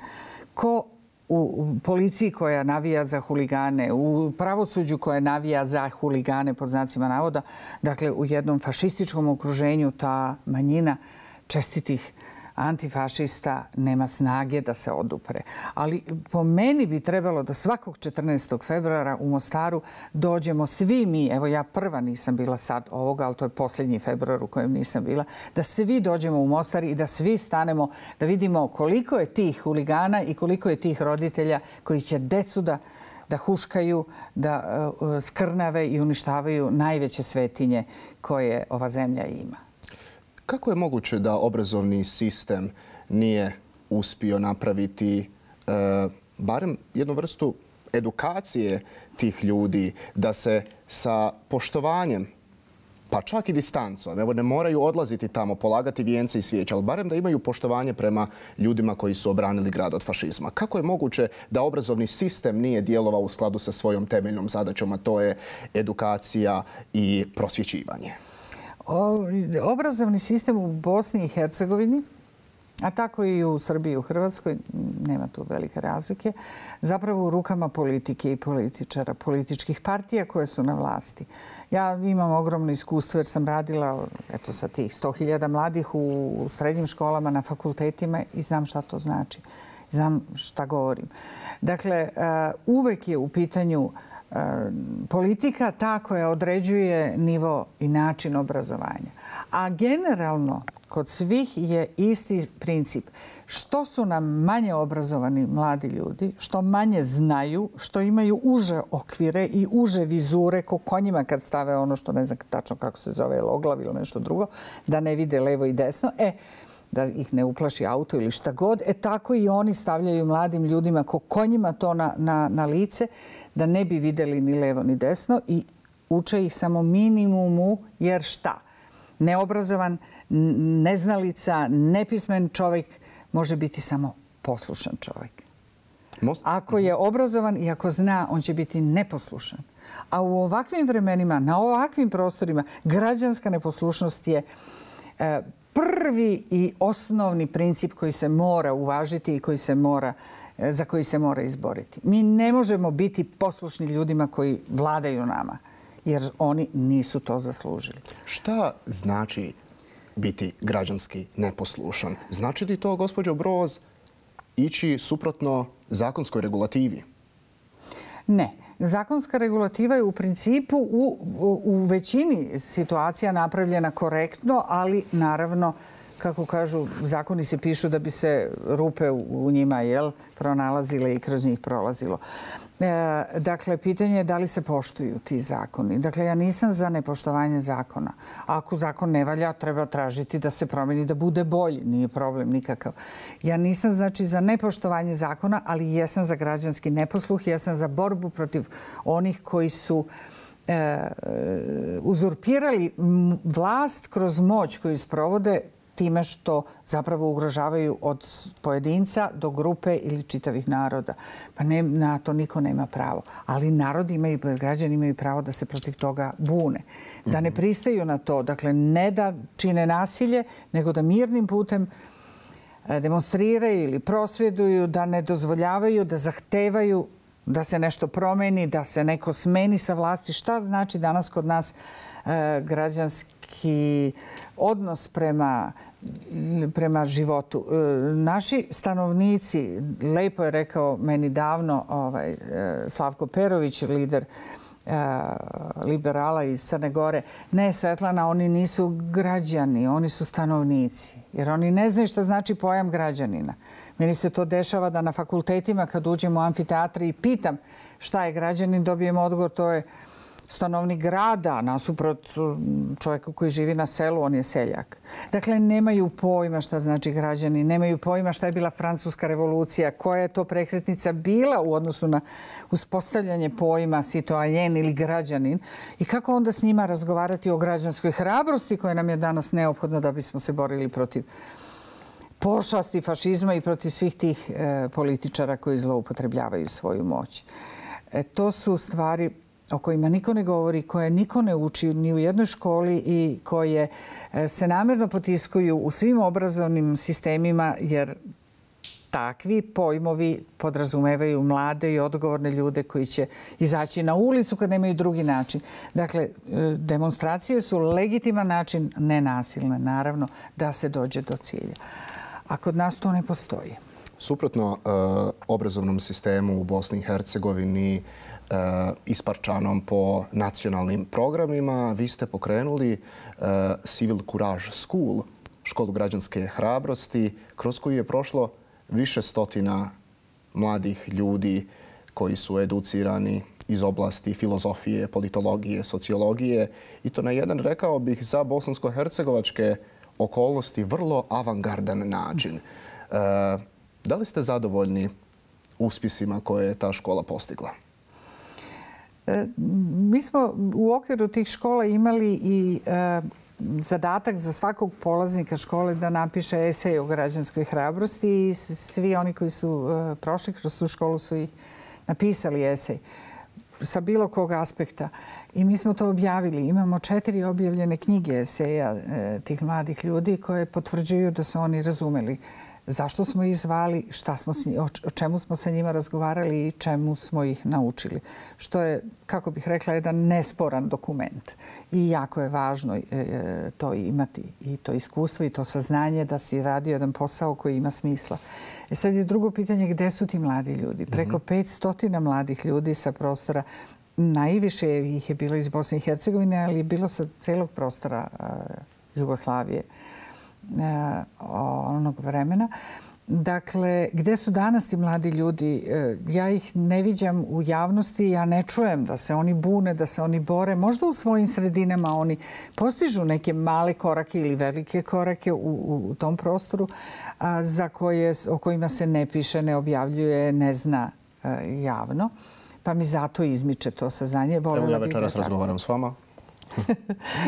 ko u, u policiji koja navija za huligane, u pravosuđu koja navija za huligane, pod znacima navoda, dakle u jednom fašističkom okruženju ta manjina čestitih antifašista nema snage da se odupre. Ali po meni bi trebalo da svakog četrnaestog februara u Mostaru dođemo svi mi, evo ja prva nisam bila sad ovoga, ali to je posljednji februar u kojem nisam bila, da svi dođemo u Mostar i da svi stanemo, da vidimo koliko je tih huligana i koliko je tih roditelja koji će decu da da huškaju, da uh, skrnave i uništavaju najveće svetinje koje ova zemlja ima. Kako je moguće da obrazovni sistem nije uspio napraviti e, barem jednu vrstu edukacije tih ljudi da se sa poštovanjem, pa čak i distancom, evo ne moraju odlaziti tamo, polagati vijence i svijeće, ali barem da imaju poštovanje prema ljudima koji su obranili grad od fašizma. Kako je moguće da obrazovni sistem nije djelovao u skladu sa svojom temeljnom zadaćom, a to je edukacija i prosvjećivanje? Obrazovni sistem u Bosni i Hercegovini, a tako i u Srbiji i u Hrvatskoj, nema tu velike razlike, zapravo u rukama politike i političara, političkih partija koje su na vlasti. Ja imam ogromno iskustvo jer sam radila eto, sa tih sto hiljada mladih u srednjim školama, na fakultetima i znam šta to znači. Znam šta govorim. Dakle, uvek je u pitanju politika ta koja određuje nivo i način obrazovanja. A generalno kod svih je isti princip. Što su nam manje obrazovani mladi ljudi, što manje znaju, što imaju uže okvire i uže vizure, ko konjima kad stave ono što ne znam tačno kako se zove, oglav ili nešto drugo, da ne vide levo i desno, e, da ih ne uplaši auto ili šta god, e tako i oni stavljaju mladim ljudima ko konjima to na, na, na lice, da ne bi videli ni levo ni desno i uče ih samo minimumu, jer šta? Neobrazovan, neznalica, nepismen čovjek može biti samo poslušan čovjek. Ako je obrazovan i ako zna, on će biti neposlušan. A u ovakvim vremenima, na ovakvim prostorima, građanska neposlušnost je e, prvi i osnovni princip koji se mora uvažiti i koji se mora, e, za koji se mora izboriti. Mi ne možemo biti poslušni ljudima koji vladaju nama, jer oni nisu to zaslužili. Šta znači biti građanski neposlušan? Znači li to, gospođo Broz, ići suprotno zakonskoj regulativi? Ne. Zakonska regulativa je u principu u, u, u većini situacija napravljena korektno, ali naravno, kako kažu, zakoni se pišu da bi se rupe u, u njima jel, pronalazile i kroz njih prolazilo. E, dakle, pitanje je da li se poštuju ti zakoni. Dakle, ja nisam za nepoštovanje zakona. Ako zakon ne valja, treba tražiti da se promijeni, da bude bolji. Nije problem nikakav. Ja nisam znači za nepoštovanje zakona, ali jesam za građanski neposluh. Jesam za borbu protiv onih koji su e, uzurpirali vlast kroz moć koju sprovode time što zapravo ugrožavaju od pojedinca do grupe ili čitavih naroda. Pa ne, na to niko nema pravo. Ali narod imaju, građani imaju pravo da se protiv toga bune. Da ne pristaju na to. Dakle, ne da čine nasilje, nego da mirnim putem demonstriraju ili prosvjeduju, da ne dozvoljavaju, da zahtevaju da se nešto promeni, da se neko smeni sa vlasti. Šta znači danas kod nas e, građanski odnos prema, prema životu? E, naši stanovnici, lepo je rekao meni davno ovaj, Slavko Perović, lider e, liberala iz Crne Gore, ne, Svetlana, oni nisu građani, oni su stanovnici. Jer oni ne znaju šta znači pojam građanina. Meni se to dešava da na fakultetima kad uđem u amfiteatri i pitam šta je građanin, dobijem odgovor, to je stanovnik grada, nasuprot čovjeku koji živi na selu, on je seljak. Dakle, nemaju pojma šta znači građanin, nemaju pojma šta je bila Francuska revolucija, koja je to prekretnica bila u odnosu na uspostavljanje pojma citoyen ili građanin i kako onda s njima razgovarati o građanskoj hrabrosti koja nam je danas neophodna da bismo se borili protiv pošasti fašizma i protiv svih tih e, političara koji zloupotrebljavaju svoju moć. E, to su stvari o kojima niko ne govori, koje niko ne uči ni u jednoj školi i koje e, se namjerno potiskuju u svim obrazovnim sistemima, jer takvi pojmovi podrazumevaju mlade i odgovorne ljude koji će izaći na ulicu kad nemaju drugi način. Dakle, demonstracije su legitiman način, nenasilne, naravno, da se dođe do cilja. A kod nas to ne postoji. Suprotno e, obrazovnom sistemu u Bosni i Hercegovini e, isparčanom po nacionalnim programima, vi ste pokrenuli e, Civil Courage School, školu građanske hrabrosti, kroz koju je prošlo više stotina mladih ljudi koji su educirani iz oblasti filozofije, politologije, sociologije i to na jedan, rekao bih, za bosansko-hercegovačke okolnosti vrlo avangardan način. E, da li ste zadovoljni uspjesima koje je ta škola postigla? E, mi smo u okviru tih škola imali i e, zadatak za svakog polaznika škole da napiše esej o građanskoj hrabrosti i svi oni koji su e, prošli kroz tu školu su i napisali esej sa bilo kog aspekta. I mi smo to objavili. Imamo četiri objavljene knjige eseja e, tih mladih ljudi koje potvrđuju da su oni razumeli zašto smo ih zvali, šta smo, o čemu smo sa njima razgovarali i čemu smo ih naučili. Što je, kako bih rekla, jedan nesporan dokument. I jako je važno e, to imati, i to iskustvo i to saznanje da si radio jedan posao koji ima smisla. E sad je drugo pitanje, gde su ti mladi ljudi? Preko petsto mladih ljudi sa prostora, najviše ih je bilo iz Bosne i Hercegovine, ali je bilo sa celog prostora uh, Jugoslavije. onog vremena. Dakle, gde su danas ti mladi ljudi? Ja ih ne viđam u javnosti, ja ne čujem da se oni bune, da se oni bore. Možda u svojim sredinama oni postižu neke male korake ili velike korake u, u tom prostoru a, za koje, o kojima se ne piše, ne objavljuje, ne zna a, javno. Pa mi zato izmiče to saznanje. Evo ja večeras razgovaram s vama.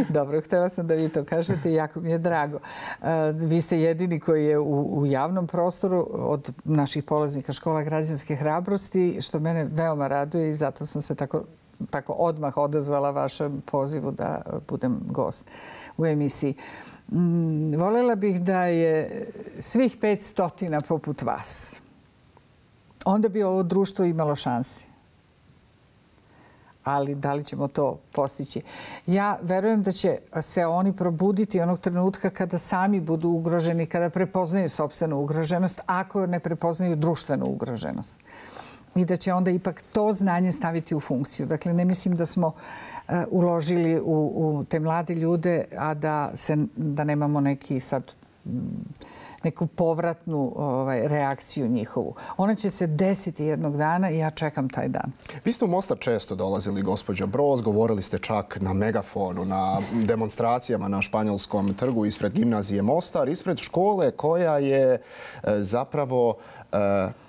Dobro, htjela sam da vi to kažete i jako mi je drago. Vi ste jedini koji je u, u javnom prostoru od naših polaznika škola građanske hrabrosti, što mene veoma raduje i zato sam se tako, tako odmah odazvala vašem pozivu da budem gost u emisiji. Mm, voljela bih da je svih pet stotina poput vas. Onda bi ovo društvo imalo šansi. Ali da li ćemo to postići? Ja verujem da će se oni probuditi onog trenutka kada sami budu ugroženi, kada prepoznaju sopstvenu ugroženost, ako ne prepoznaju društvenu ugroženost. I da će onda ipak to znanje staviti u funkciju. Dakle, ne mislim da smo uh, uložili u, u te mlade ljude, a da, se, da nemamo neki sad... Mm, neku povratnu ovaj, reakciju njihovu. Ona će se desiti jednog dana i ja čekam taj dan. Vi ste u Mostar često dolazili, gospođo Broz, govorili ste čak na megafonu, na demonstracijama na Španjolskom trgu ispred gimnazije Mostar, ispred škole koja je e, zapravo e,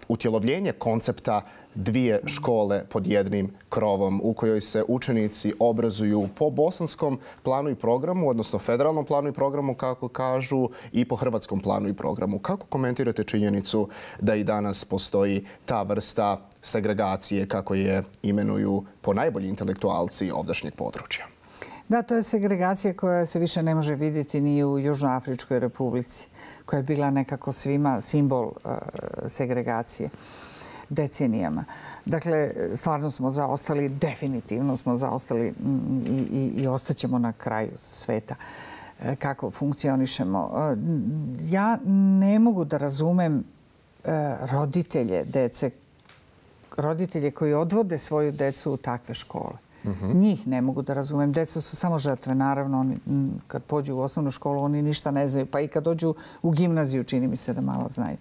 utjelovljenje koncepta dvije škole pod jednim krovom u kojoj se učenici obrazuju po bosanskom planu i programu, odnosno federalnom planu i programu, kako kažu, i po hrvatskom planu i programu. Kako komentirate činjenicu da i danas postoji ta vrsta segregacije, kako je imenuju po najbolji intelektualci ovdašnjeg područja? Da, to je segregacija koja se više ne može vidjeti ni u Južnoafričkoj republici, koja je bila nekako svima simbol uh, segregacije decenijama. Dakle, stvarno smo zaostali, definitivno smo zaostali i, i, i ostaćemo na kraju sveta kako funkcionišemo. Ja ne mogu da razumem roditelje dece, roditelje koji odvode svoju decu u takve škole. Mm-hmm. Njih ne mogu da razumem. Deca su samo žrtve, naravno. Oni, kad pođu u osnovnu školu, oni ništa ne znaju. Pa i kad dođu u gimnaziju, čini mi se da malo znaju.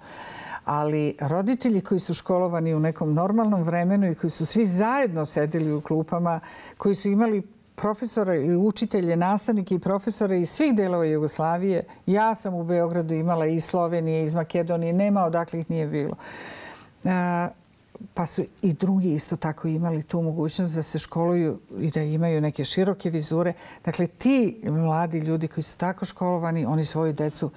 Ali roditelji koji su školovani u nekom normalnom vremenu i koji su svi zajedno sedeli u klupama, koji su imali profesore i učitelje, nastavnike i profesore iz svih delova Jugoslavije. Ja sam u Beogradu imala i iz Slovenije, iz Makedonije. Nema odakle ih nije bilo. Pa su i drugi isto tako imali tu mogućnost da se školuju i da imaju neke široke vizure. Dakle, ti mladi ljudi koji su tako školovani, oni svoju decu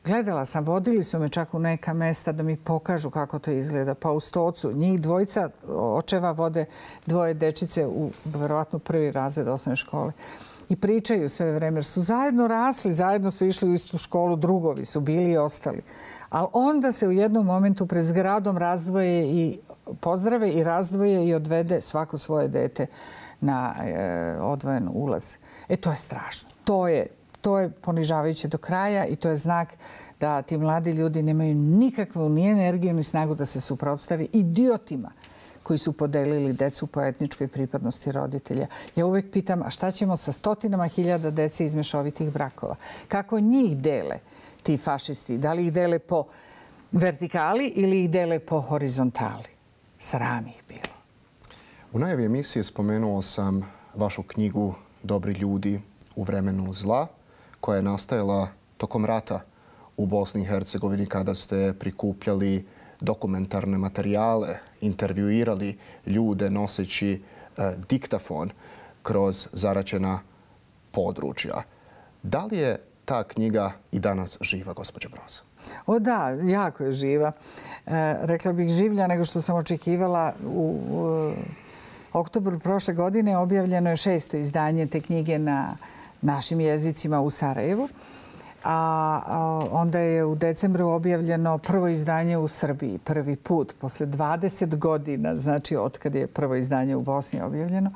gledala sam, vodili su me čak u neka mesta da mi pokažu kako to izgleda. Pa u Stocu, njih dvojica očeva vode dvoje dečice u verovatno prvi razred osnovne škole. I pričaju sve vreme, jer su zajedno rasli, zajedno su išli u istu školu, drugovi su bili i ostali. Ali onda se u jednom momentu pred zgradom razdvoje i pozdrave i razdvoje i odvede svako svoje dete na e, odvojen ulaz. E, to je strašno. To je To je ponižavajuće do kraja i to je znak da ti mladi ljudi nemaju nikakvu ni energiju ni snagu da se suprotstavi idiotima koji su podelili decu po etničkoj pripadnosti roditelja. Ja uvek pitam, a šta ćemo sa stotinama hiljada dece iz mešovitih brakova? Kako njih dele ti fašisti? Da li ih dele po vertikali ili ih dele po horizontali? Sram ih bilo. U najavi emisije spomenuo sam vašu knjigu Dobri ljudi u vremenu zla, koja je nastajala tokom rata u Bosni i Hercegovini kada ste prikupljali dokumentarne materijale, intervjuirali ljude noseći e, diktafon kroz zaraćena područja. Da li je ta knjiga i danas živa, gospođo Broz? O da, jako je živa. E, rekla bih življa nego što sam očekivala. U, u oktobru prošle godine objavljeno je šesto izdanje te knjige na našim jezicima u Sarajevu. A, a onda je u decembru objavljeno prvo izdanje u Srbiji. Prvi put, posle dvadeset godina, znači od kad je prvo izdanje u Bosni objavljeno.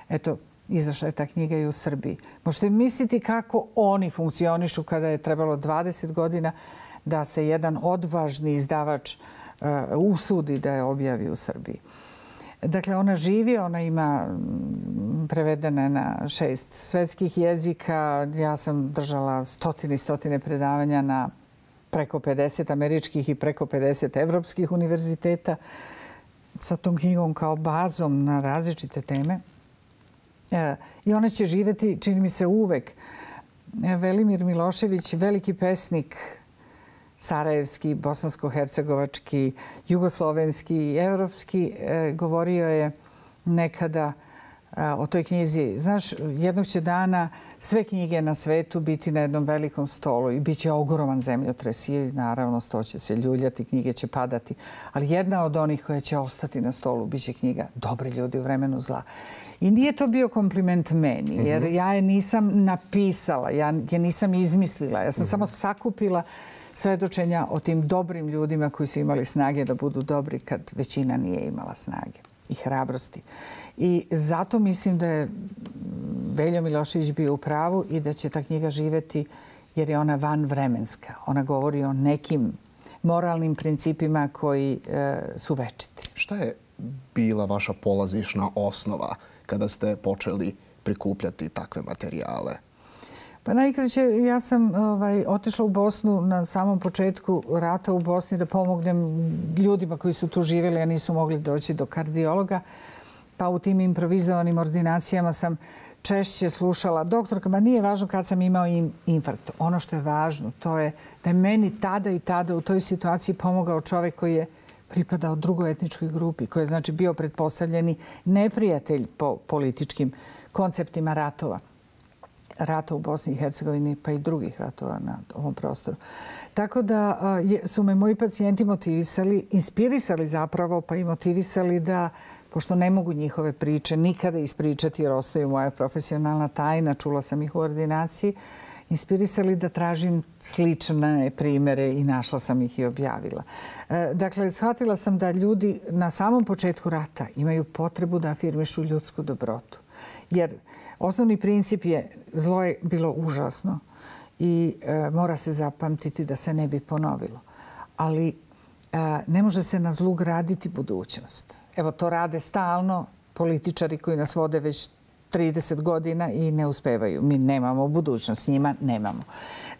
Eto, izašla je ta knjiga i u Srbiji. Možete misliti kako oni funkcionišu kada je trebalo dvadeset godina da se jedan odvažni izdavač uh, usudi da je objavi u Srbiji. Dakle, ona živi, ona ima prevedene na šest svetskih jezika. Ja sam držala stotine i stotine predavanja na preko pedeset američkih i preko pedeset evropskih univerziteta sa tom knjigom kao bazom na različite teme. I ona će živjeti, čini mi se, uvek. Velimir Milošević, veliki pesnik, sarajevski, bosansko-hercegovački, jugoslovenski i evropski, govorio je nekada o toj knjizi. Znaš, jednog će dana sve knjige na svetu biti na jednom velikom stolu i bit će ogroman zemljotres i naravno sto će se ljuljati, knjige će padati. Ali jedna od onih koja će ostati na stolu bit će knjiga Dobri ljudi u vremenu zla. I nije to bio kompliment meni, jer ja je nisam napisala, ja je nisam izmislila. Ja sam samo sakupila svedočenja o tim dobrim ljudima koji su imali snage da budu dobri kad većina nije imala snage i hrabrosti. I zato mislim da je Veljo Milošević bio u pravu i da će ta knjiga živjeti jer je ona vanvremenska. Ona govori o nekim moralnim principima koji e, su večiti. Šta je bila vaša polazišna osnova kada ste počeli prikupljati takve materijale? Pa najkraće, ja sam ovaj, otišla u Bosnu na samom početku rata u Bosni da pomognem ljudima koji su tu živjeli, a nisu mogli doći do kardiologa. Pa u tim improvizovanim ordinacijama sam češće slušala doktorka, ma nije važno kad sam imao infarkt. Ono što je važno, to je da je meni tada i tada u toj situaciji pomogao čovjek koji je pripadao drugoj etničkoj grupi, koji je znači bio pretpostavljeni neprijatelj po političkim konceptima ratova. Rata u Bosni i Hercegovini, pa i drugih ratova na ovom prostoru. Tako da su me moji pacijenti motivisali, inspirisali zapravo, pa i motivisali da, pošto ne mogu njihove priče nikada ispričati jer ostaju moja profesionalna tajna, čula sam ih u ordinaciji, inspirisali da tražim slične primere i našla sam ih i objavila. Dakle, shvatila sam da ljudi na samom početku rata imaju potrebu da afirmišu ljudsku dobrotu. Jer osnovni princip je zlo je bilo užasno i e, mora se zapamtiti da se ne bi ponovilo. Ali e, ne može se na zlu graditi budućnost. Evo, to rade stalno političari koji nas vode već trideset godina i ne uspevaju. Mi nemamo budućnost, s njima nemamo.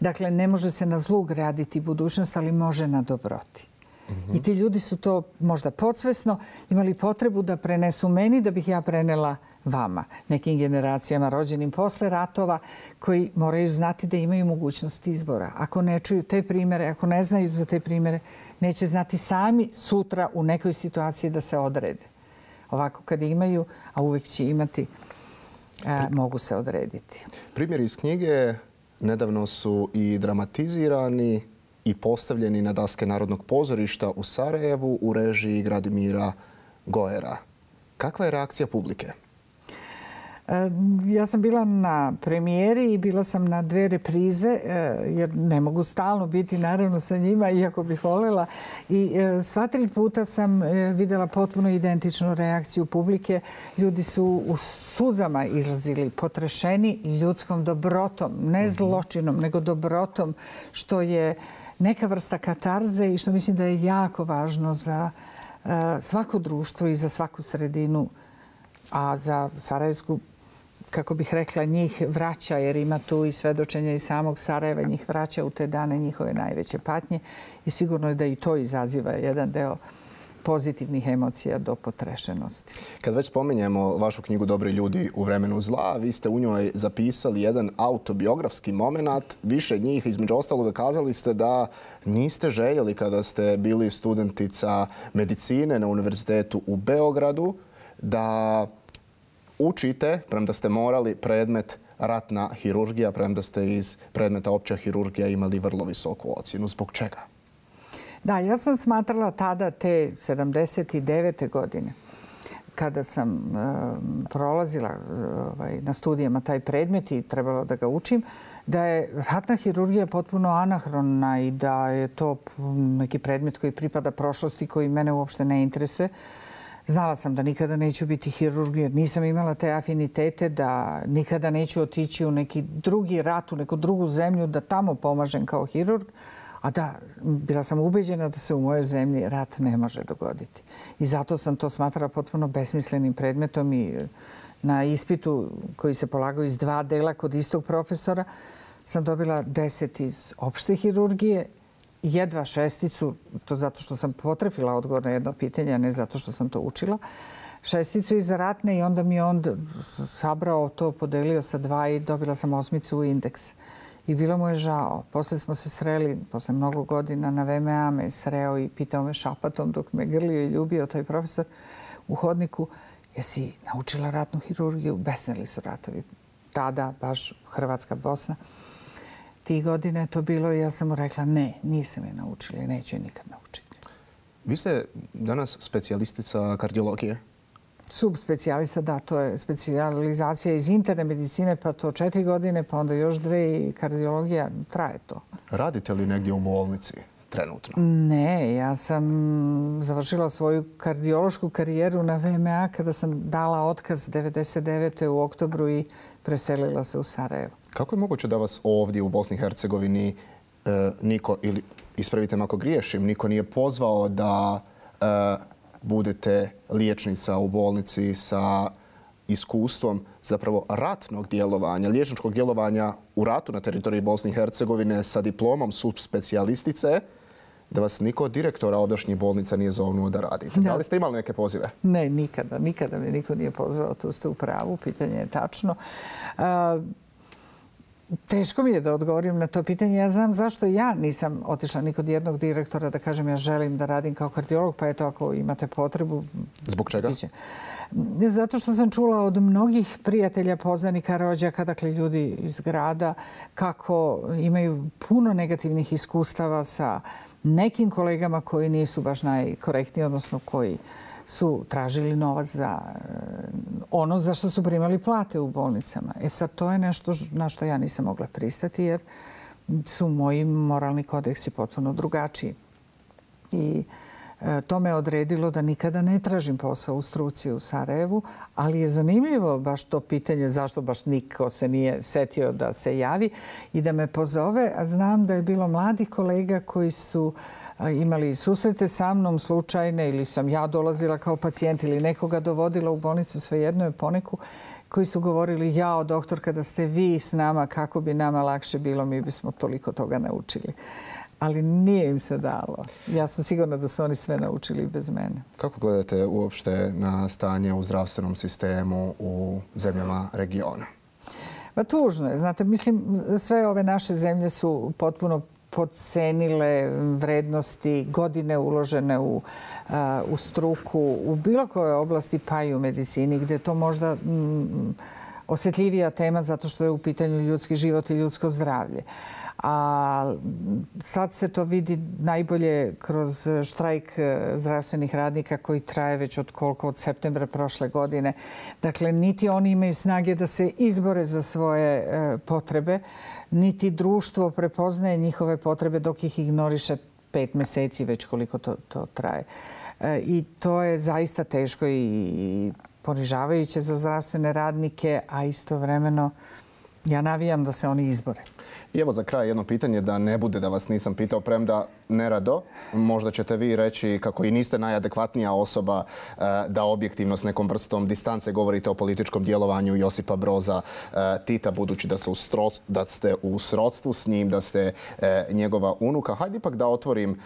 Dakle, ne može se na zlu graditi budućnost, ali može na dobroti. Mm-hmm. I ti ljudi su to možda podsvesno imali potrebu da prenesu meni da bih ja prenela vama, nekim generacijama rođenim posle ratova koji moraju znati da imaju mogućnost izbora. Ako ne čuju te primere, ako ne znaju za te primere, neće znati sami sutra u nekoj situaciji da se odrede. Ovako kad imaju, a uvijek će imati, a, mogu se odrediti. Primjeri iz knjige nedavno su i dramatizirani i postavljeni na daske Narodnog pozorišta u Sarajevu u režiji Gradimira Goera. Kakva je reakcija publike? Ja sam bila na premijeri i bila sam na dve reprize, jer ne mogu stalno biti naravno sa njima, iako bih voljela. I sva tri puta sam vidjela potpuno identičnu reakciju publike. Ljudi su u suzama izlazili, potrešeni ljudskom dobrotom, ne zločinom, nego dobrotom, što je neka vrsta katarze i što mislim da je jako važno za svako društvo i za svaku sredinu, a za sarajevsku, kako bih rekla, njih vraća, jer ima tu i svedočenja iz samog Sarajeva, njih vraća u te dane njihove najveće patnje i sigurno je da i to izaziva jedan deo pozitivnih emocija do potrešenosti. Kad već spominjemo vašu knjigu Dobri ljudi u vremenu zla, vi ste u njoj zapisali jedan autobiografski moment. Više njih, između ostaloga, kazali ste da niste željeli kada ste bili studentica medicine na Univerzitetu u Beogradu, da učite, premda ste morali, predmet ratna hirurgija, premda ste iz predmeta opća hirurgija imali vrlo visoku ocjenu. Zbog čega? Da, ja sam smatrala tada te sedamdeset devete godine, kada sam e, prolazila ovaj, na studijama taj predmet i trebalo da ga učim, da je ratna hirurgija potpuno anahrona i da je to neki predmet koji pripada prošlosti, koji mene uopšte ne interesuje. Znala sam da nikada neću biti hirurg jer nisam imala te afinitete, da nikada neću otići u neki drugi rat, u neku drugu zemlju, da tamo pomažem kao hirurg. A da, bila sam ubeđena da se u mojoj zemlji rat ne može dogoditi. I zato sam to smatrala potpuno besmislenim predmetom i na ispitu koji se polagao iz dva dela kod istog profesora sam dobila deset iz opšte hirurgije, jedva šesticu, to zato što sam potrefila odgovor na jedno pitanje, a ne zato što sam to učila, šesticu iz ratne i onda mi je on sabrao to, podelio sa dva i dobila sam osmicu u indeks. I bilo mu je žao. Posle smo se sreli, posle mnogo godina na V M A me sreo i pitao me šapatom dok me grlio i ljubio taj profesor u hodniku, jesi naučila ratnu hirurgiju? Besneli su ratovi. Tada, baš Hrvatska, Bosna. Tih godine je to bilo i ja sam mu rekla ne, nisam je naučila i neću je nikad naučiti. Vi ste danas specijalistica kardiologije? Subspecijalista, da, to je specijalizacija iz interne medicine, pa to četiri godine, pa onda još dve i kardiologija, traje to. Radite li negdje u bolnici trenutno? Ne, ja sam završila svoju kardiološku karijeru na V M A kada sam dala otkaz devedeset devete u oktobru i preselila se u Sarajevo. Kako je moguće da vas ovdje u Bosni i Hercegovini e, niko, ili ispravite me ako griješim, niko nije pozvao da e, budete liječnica u bolnici sa iskustvom zapravo ratnog djelovanja, liječničkog djelovanja u ratu na teritoriji Bosne i Hercegovine sa diplomom subspecijalistice, da vas niko od direktora ovdašnjih bolnica nije zovnuo da radite. Da. Da li ste imali neke pozive? Ne, nikada. Nikada me niko nije pozvao. Tu ste u pravu. Pitanje je tačno. Uh, Teško mi je da odgovorim na to pitanje. Ja znam zašto ja nisam otišla ni kod jednog direktora da kažem ja želim da radim kao kardiolog, pa eto ako imate potrebu... Zbog čega? Biće. Zato što sam čula od mnogih prijatelja, poznanika, rođaka, dakle ljudi iz grada, kako imaju puno negativnih iskustava sa nekim kolegama koji nisu baš najkorektniji, odnosno koji su tražili novac za ono za što su primali plate u bolnicama. E sad, to je nešto na što ja nisam mogla pristati jer su moji moralni kodeksi potpuno drugačiji. I to me odredilo da nikada ne tražim posao u struci u Sarajevu, ali je zanimljivo baš to pitanje zašto baš niko se nije setio da se javi i da me pozove. A znam da je bilo mladih kolega koji su imali susrete sa mnom slučajne ili sam ja dolazila kao pacijent ili nekoga dovodila u bolnicu, svejedno je poneku, koji su govorili jao doktor kada ste vi s nama, kako bi nama lakše bilo, mi bismo toliko toga naučili. Ali nije im se dalo. Ja sam sigurna da su oni sve naučili bez mene. Kako gledate uopšte na stanje u zdravstvenom sistemu u zemljama regiona? Pa tužno je. Znate, mislim, sve ove naše zemlje su potpuno podcenile vrednosti, godine uložene u, uh, u struku, u bilo kojoj oblasti, pa i u medicini, gdje je to možda mm, osjetljivija tema zato što je u pitanju ljudski život i ljudsko zdravlje. A sad se to vidi najbolje kroz štrajk zdravstvenih radnika koji traje već od koliko, od septembra prošle godine. Dakle, niti oni imaju snage da se izbore za svoje e, potrebe, niti društvo prepoznaje njihove potrebe dok ih ignoriše pet mjeseci već koliko to, to traje. E, I to je zaista teško i ponižavajuće za zdravstvene radnike, a istovremeno ja navijam da se oni izbore. I evo za kraj jedno pitanje da ne bude da vas nisam pitao, premda nerado. Možda ćete vi reći kako i niste najadekvatnija osoba da objektivno s nekom vrstom distance govorite o političkom djelovanju Josipa Broza Tita, budući da, u stro, da ste u srodstvu s njim, da ste njegova unuka. Hajde ipak da otvorim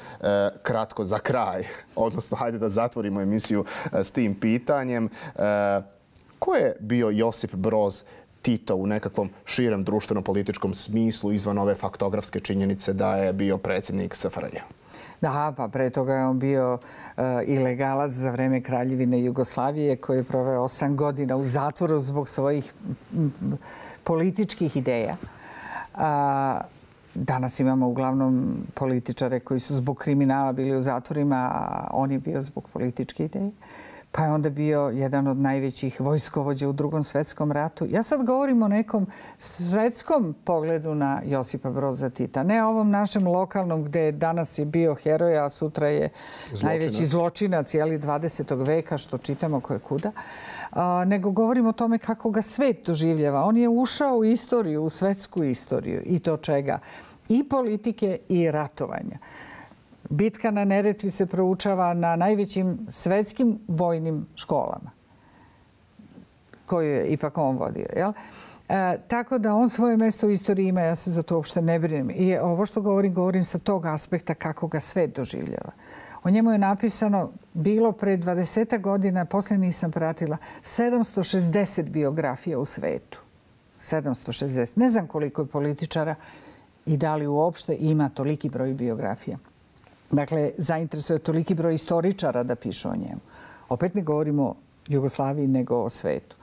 kratko za kraj, odnosno hajde da zatvorimo emisiju s tim pitanjem. Ko je bio Josip Broz Tito u nekakvom širem društveno-političkom smislu izvan ove faktografske činjenice da je bio predsjednik S F R J? Da, pa pre toga je on bio uh, ilegalac za vreme Kraljevine Jugoslavije koji je proveo osam godina u zatvoru zbog svojih m, političkih ideja. Uh, danas imamo uglavnom političare koji su zbog kriminala bili u zatvorima, a on je bio zbog političke ideje. Pa je onda bio jedan od najvećih vojskovođa u Drugom svjetskom ratu. Ja sad govorim o nekom svjetskom pogledu na Josipa Broza Tita. Ne ovom našem lokalnom gdje danas je bio heroj, a sutra je zločinac. Najveći zločinac jeli, dvadesetog veka, što čitamo koje kuda. A, nego govorim o tome kako ga svet doživljava. On je ušao u istoriju, u svjetsku istoriju. I to čega? i politike i ratovanja. Bitka na Neretvi se proučava na najvećim svetskim vojnim školama koju je ipak on vodio. Jel? E, tako da on svoje mjesto u istoriji ima, ja se za to uopšte ne brinem. I ovo što govorim, govorim sa tog aspekta kako ga svet doživljava. O njemu je napisano, bilo pre dvadeset godina, poslije nisam pratila, sedamsto šezdeset biografija u svetu. sedamsto šezdeset. Ne znam koliko je političara i da li uopšte ima toliki broj biografija. Dakle, zainteresuje toliki broj istoričara da pišu o njemu. Opet ne govorimo o Jugoslaviji nego o svetu.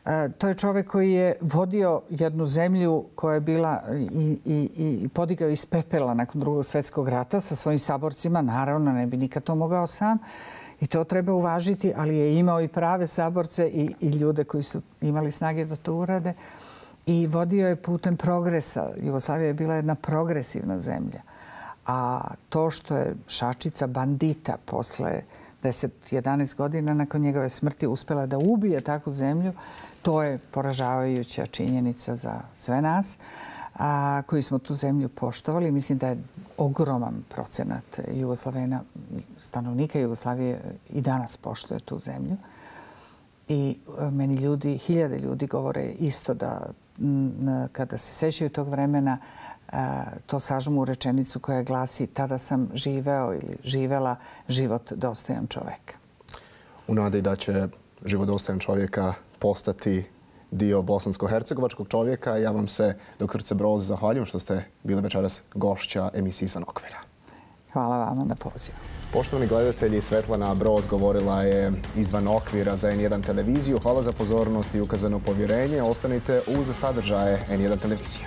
E, to je čovjek koji je vodio jednu zemlju koja je bila i, i, i podigao iz pepela nakon drugog svjetskog rata sa svojim saborcima. Naravno, ne bi nikad to mogao sam. I to treba uvažiti, ali je imao i prave saborce i, i ljude koji su imali snage da to urade. I vodio je putem progresa. Jugoslavija je bila jedna progresivna zemlja. A to što je šačica bandita posle deset jedanaest godina nakon njegove smrti uspjela da ubije takvu zemlju, to je poražavajuća činjenica za sve nas a, koji smo tu zemlju poštovali. Mislim da je ogroman procenat Jugoslavena, stanovnika Jugoslavije i danas poštuje tu zemlju. I meni ljudi, hiljade ljudi govore isto da m, kada se sećaju tog vremena to sažmu u rečenicu koja glasi tada sam živeo ili živela život dostojan čoveka. U nadi da će život dostojan čovjeka postati dio bosansko-hercegovačkog čovjeka, ja vam se, doktorice Broz, zahvaljujem što ste bili večeras gošća emisije Izvan okvira. Hvala vama na pozivu. Poštovani gledatelji, Svetlana Broz govorila je Izvan okvira za en jedan televiziju. Hvala za pozornost i ukazano povjerenje. Ostanite uz sadržaje en jedan televizije.